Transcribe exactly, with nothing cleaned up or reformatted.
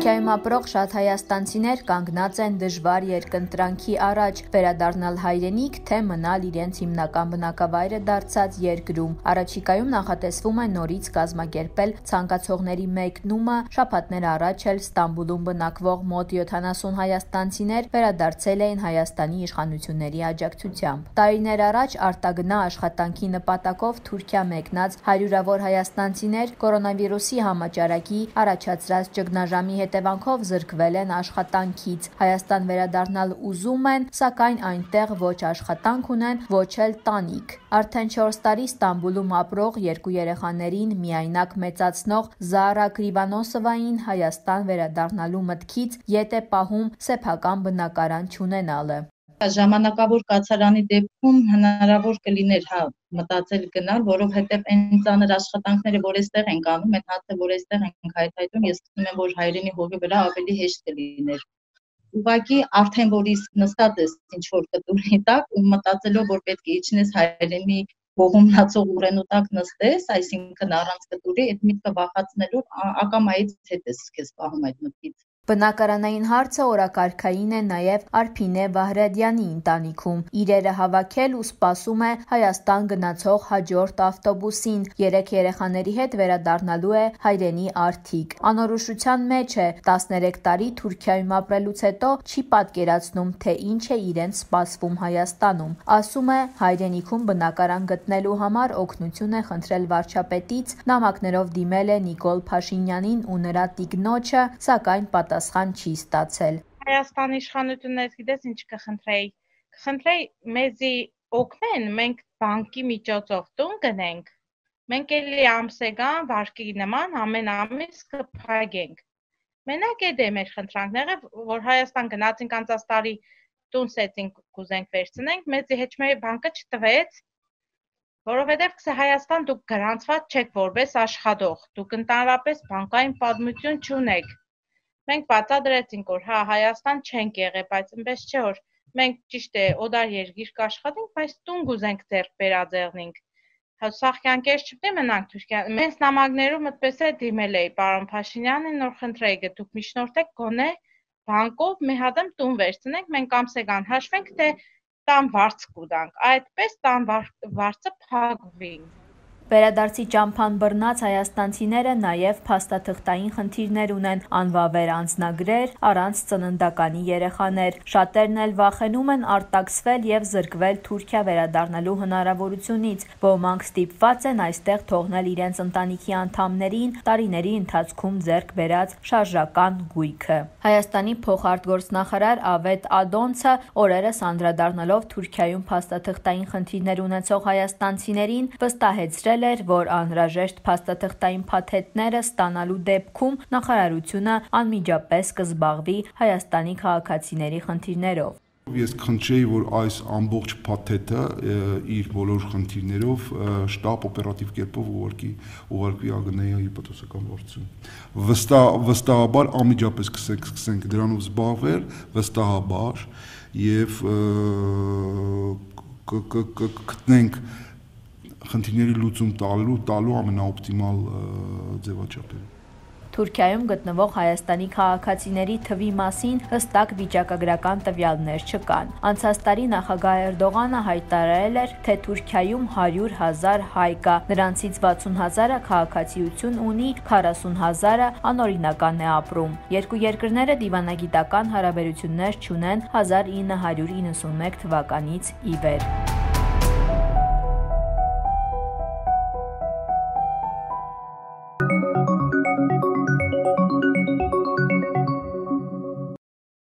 Թուրքիայում ապրող շատ հայաստանցիներ կանգնած են դժվար երկընտրանքի առաջ՝ վերադառնալ հայրենիք, թե մնալ իրենց հիմնական բնակավայրը դարձած երկրում։ Առաջիկայում նախատեսվում է նորից կազմակերպել ցանկացողների մեկնումը, շաբաթներ առաջ էլ Ստամբուլում բնակվող մոտ յոթանասուն հայաստանցիներ վերադարձել էին Հայաստանի իշխանությունների աջակցությամբ։ Տարիներ առաջ արտագնա աշխատանքի նպատակով Թուրքիա մեկնած հարյուրավոր հայաստանցիներ կորոնավիրուսի համաճարակի առաջացրած ճգնաժամի հետևանքով զրկվել են աշխատանքից։ Հայաստան վերադառնալ ուզում են, սակայն այնտեղ ոչ աշխատանք ունեն, ոչ էլ տանիք։ Արդեն չորս տարի Ստամբուլում ապրող երկու երեխաներին միայնակ մեծացնող Զարա Կրիվանոսովային Հայաստան վերադառնալու մտքից ետ է պահում սեփական բնակարան չունենալը։ Ժամանակավոր կացարանի դեպքում հնարավոր կլիներ հա մտածել գնալ, որովհետև այն ծանր աշխատանքները, որ այստեղ ենք անում, այդ հացը, որ այստեղ ենք հայթայթում, ես գտնում եմ, որ հայրենի հողի վրա ավելի հեշտ կլիներ։ Ուղղակի արդեն որ իսկ նստած ես ինչ որ կտուրի տակ ու մտածելով, որ պետք է իջնես հայրենի հողում մնացող ուռենու տակ նստես, այսինքն առանց կտուրի, այդ միտքը վախացնելով ակամայից հետ ես քեզ պահում այդ մտքից։ Բնակարանային հարցը օրակարգային է նաև Արփինե Վահրադյանի ընտանիքում։ Իրերը հավաքել ու սպասում է Հայաստան գնացող հաջորդ ավտոբուսին։ Երեք երեխաների հետ վերադառնալու է հայրենի արդիկ։ Անորոշության մեջ է, տասներեք տարի Թուրքիայում ապրելուց հետո չի պատկերացնում, թե ինչ է իրեն սպասվում Հայաստանում։ Ասում է, հայրենիքում բնակարան գտնելու համար օգնություն է խնդրել վարչապետից, նամակներով դիմել է Նիկոլ Փաշինյանին ու նրա տիկնոջը, սակայն պատասխան չի ստացել։ Հայաստանի իշխանություններից գիտես ինչ կխնդրեի։ Կխնդրեի մեզի օգնեն, մենք բանկի միջոցով տուն գնենք։ Մենք էլի ամսեգան վարկի նման ամեն ամիս կփակենք։ Մենակ է դե մեր խնդրանքները, որ Հայաստան գնացինք անցած տարի տուն սեցինք կուզենք վերցնենք, մեզի հեչ մեր բանկը չտվեց, որովհետև կսե Հայաստան դուք գրանցված չեք որպես աշխատող, դուք ընդհանրապես բանկային պատմություն չունեք։ Մենք բացատրեցինք, որ հա Հայաստան չենք եղել, բայց այնպես չէ, որ մենք ճիշտ է օդար երկիր կաշխատենք, բայց տուն գուզենք ձեռք վերաձեռնենք։ Հա սաղ կյանքեր չպետք է մնանք Թուրքիա։ Մենք նամակներում այդպես է դիմել էի պարոն Փաշինյանին, նոր խնդրեի գտուք միջնորդեք գոնե բանկով մի հատ տուն վերցնենք, մենք ամսեգան հաշվենք, թե տան վարձ կուտանք, այդպես տան վարձը փակվի։ Վերադարձի ճամփան բռնած հայաստանցիները նաև փաստաթղթային խնդիրներ ունեն, անվավեր անձնագրեր, առանց ծննդականի երեխաներ։ Շատերն էլ վախենում են արտաքսվել եւ զրկվել Թուրքիա վերադառնալու հնարավորությունից։ Ոմանք ստիպված են այստեղ թողնել իրենց ընտանիքի անդամներին տարիների ընթացքում ձեռք բերած շարժական գույքը։ Հայաստանի փոխարտգործնախարար Ավետ Ադոնցը օրերս անդրադառնալով Թուրքիայում փաստաթղթային խնդիրներ ունեցող հայաստանցիներին վստահեցրել էր, որ անհրաժեշտ փաստաթղթային փաթեթները ստանալու դեպքում նախարարությունը անմիջապես կզբաղվի Հայաստանի քաղաքացիների խնդիրներով։ Ես կխնդրեի, որ այս ամբողջ փաթեթը իր բոլոր խնդիրներով շտապ օպերատիվ կերպով ուղարկի ուղարկվի ԱԳՆ-ի հիպոթոսական վարչություն։ Վստահ վստահաբար անմիջապես կսկսենք դրանով զբաղվել, վստահաբար եւ կգտնենք խնդիրների լուծում տալու տալու ամենաօպտիմալ ձևաչափը։ Թուրքիայում գտնվող Հայաստանի քաղաքացիների թվի մասին հստակ վիճակագրական տվյալներ չկան։ Անցած տարի նախագահ Էրդողանը հայտարարել էր, թե Թուրքիայում հարյուր հազար հայ կա, նրանցից վաթսուն հազարը քաղաքացիություն ունի, քառասուն հազարը անօրինական է ապրում։ Երկու երկրները դիվանագիտական հարաբերություններ չունեն հազար ինը հարյուր իննսունմեկ թվականից ի վեր։